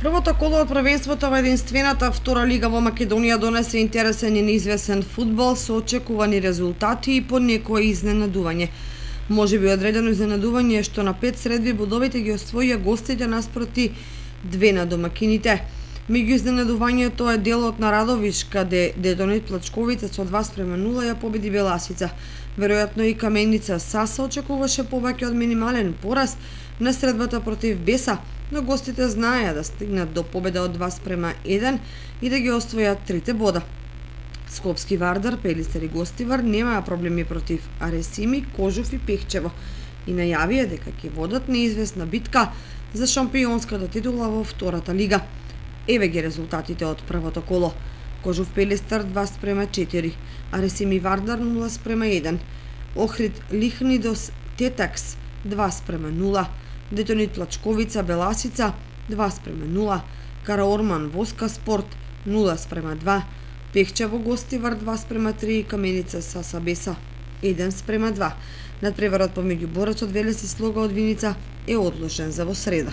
Првото коло од првенството во единствената втора лига во Македонија донесе интересен и неизвестен фудбал со очекувани резултати и по некое изненадување. Можеби одредено изненадување што на 5 средби бодовите ги освоија гостите наспроти 2 на домакините. Меѓу изненадувањето е делот на Радовиш, каде Детонит Плачковица со 2:0 ја победи Беласица. Веројатно и Каменица Саса очекуваше повеќе од минимален пораз на средбата против Беса, но гостите знаеа да стигнат до победа од 2:1 и да ги освојат 3 бода. Скопски Вардар, Пелистер и Гостивар немаа проблеми против Аресими, Кожув и Пехчево и најавија дека ќе водат неизвестна битка за шампионската титула во втората лига. Еве ги резултатите од првото коло. Кожув Пелистер 2:4, Аресими Вардар 0:1, Охрид Лихнидос Тетакс 2:0, Детонит Плачковица Беласица 2:0, Караорман Воска Спорт 0:2, Пехчево Гостивар 2:3 и Каменица Саса Беса 1:2. Надпреварот помеѓу борецот Велес и Слога од Виница е одложен за во среда.